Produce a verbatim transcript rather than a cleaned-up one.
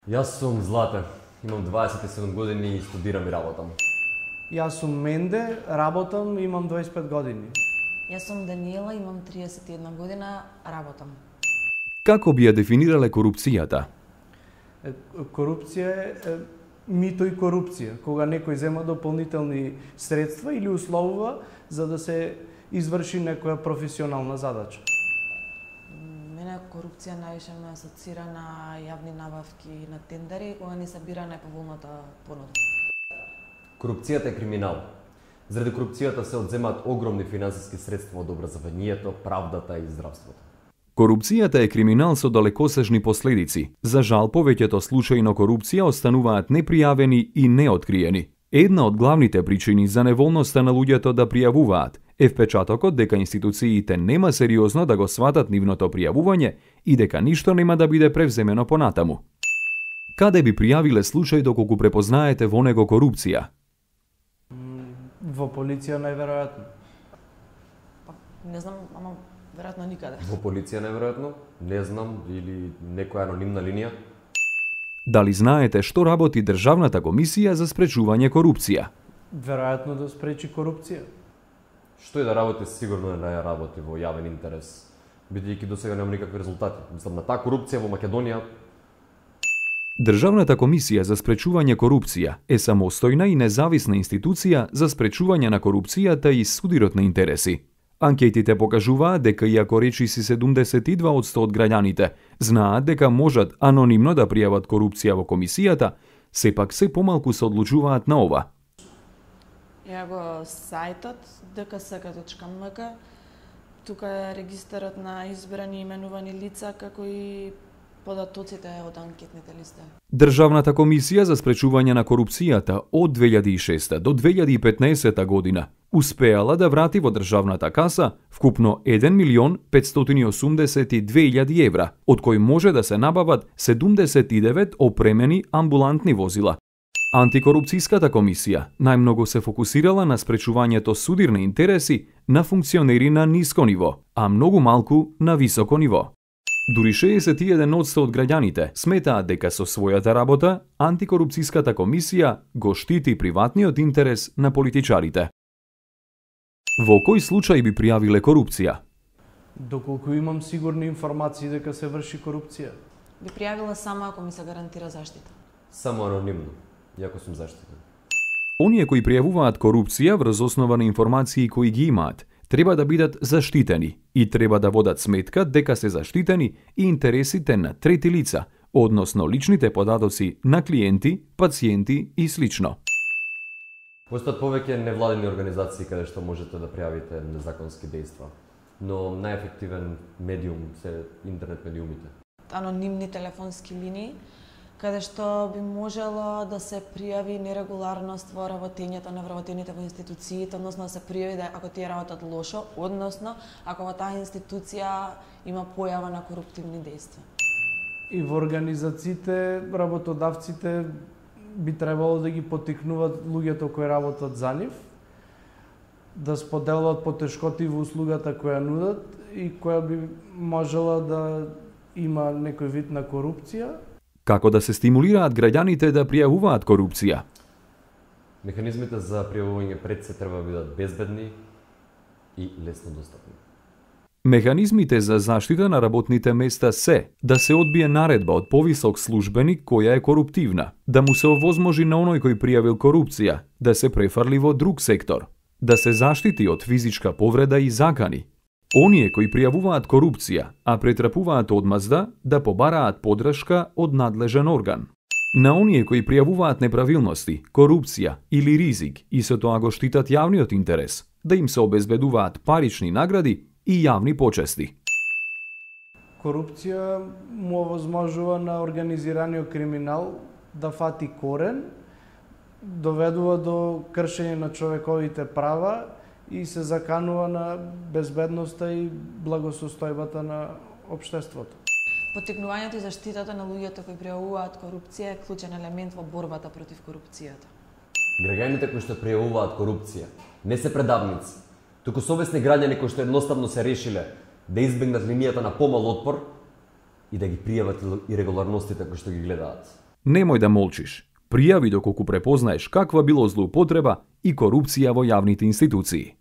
Јас сум Злате, имам дваесет и седум години и студирам и работам. Јас сум Менде, работам, имам дваесет и пет години. Јас сум Даниела, имам триесет и една година, работам. Како би ја дефинирале корупцијата? Е, корупција е мито и корупција, кога некој зема дополнителни средства или условува за да се изврши некоја професионална задача. Мене корупција највише ме асоцира на јавни набавки на тендери, кога не събира најповолната понуда. Корупцијата е криминал. Заради корупцијата се одземаат огромни финансиски средства од образованието, правдата и здравството. Корупцијата е криминал со далекосежни последици. За жал, повеќето случаи на корупција остануваат непријавени и неоткриени. Една од главните причини за неволноста на луѓето да пријавуваат е впечатокот дека институциите нема сериозно да го сватат нивното пријавување и дека ништо нема да биде превземено понатаму. Каде би пријавиле случај доколку препознаете во него корупција? Во полиција најверојатно. Па, не знам, ама веројатно никаде. Во полиција најверојатно, не знам, или некоја анонимна линија. Дали знаете што работи Државната комисија за спречување корупција? Веројатно да спречи корупција. Што и да работи, сигурно е да работи во јавен интерес, бидејќи досега нема никакви резултати. Мислам, на таа корупција во Македонија. Државната комисија за спречување корупција е самостојна и независна институција за спречување на корупцијата и судирот на интереси. Анкетите покажуваат дека иако речиси седумдесет и два одсто од граѓаните знаат дека можат анонимно да пријават корупција во комисијата, сепак се помалку се одлучуваат на ова. Ја го сајтот д к с к точка м к, тука е регистарот на избрани и именувани лица, како и податоците од анкетните листи. Државната комисија за спречување на корупцијата од две илјади и шеста до две илјади и петнаесета година успеала да врати во државната каса вкупно еден милион петстотини и осумдесет и две илјади евра, од кои може да се набават седумдесет и девет опремени амбулантни возила. Антикорупцијската комисија најмногу се фокусирала на спречувањето судирни интереси на функционери на ниско ниво, а многу малку на високо ниво. Дури шеесет и еден одсто од граѓаните сметаат дека со својата работа антикорупцијската комисија го штити приватниот интерес на политичарите. Во кој случај би пријавиле корупција? Доколку имам сигурни информации дека се врши корупција. Би пријавила само ако ми се гарантира заштита. Само анонимно, иако сум заштитен. Оние кои пријавуваат корупција врз основа на информации кои ги имаат, треба да бидат заштитени и треба да водат сметка дека се заштитени и интересите на трети лица, односно личните податоци на клиенти, пациенти и слично. Постојат повеќе невладени организации каде што можете да пријавите незаконски дејства, но најефективен медиум се интернет медиумите. Анонимни телефонски линии, каде што би можело да се пријави нерегуларност во работењето на вработените во институциите, односно да се пријави да ако тие работат лошо, односно ако во таа институција има појава на коруптивни дејства. И во организациите, работодавците би требало да ги поттикнуваат луѓето кои работат за нив, да споделуваат потешкоти во услугата која нудат и која би можела да има некој вид на корупција. Како да се стимулираат граѓаните да пријавуваат корупција? Механизмите за пријавување пред се треба да бидат безбедни и лесно достапни. Механизмите за заштита на работните места се да се одбие наредба од повисок службеник која е коруптивна, да му се овозможи на оној кој пријавил корупција да се префарли во друг сектор, да се заштити од физичка повреда и закани. Оние кои пријавуваат корупција, а претрпуваат одмазда, да побараат подршка од надлежен орган. На оние кои пријавуваат неправилности, корупција или ризик и со тоа го штитат јавниот интерес, да им се обезбедуваат парични награди и јавни почести. Корупција му овозможува на организираниот криминал да фати корен, доведува до кршење на човековите права и се заканува на безбедноста и благосостојбата на општеството. Поттикнувањето и заштитата на луѓето кои пријавуваат корупција е клучен елемент во борбата против корупцијата. Граѓаните кои што пријавуваат корупција не се предавници, туку совесни граѓани кои што едноставно се решиле да избегнат линијата на помал отпор и да ги пријават ирегуларностите кои што ги гледаат. Немој да молчиш. Пријави доколку препознаеш каква било злоупотреба и корупција во јавните институции.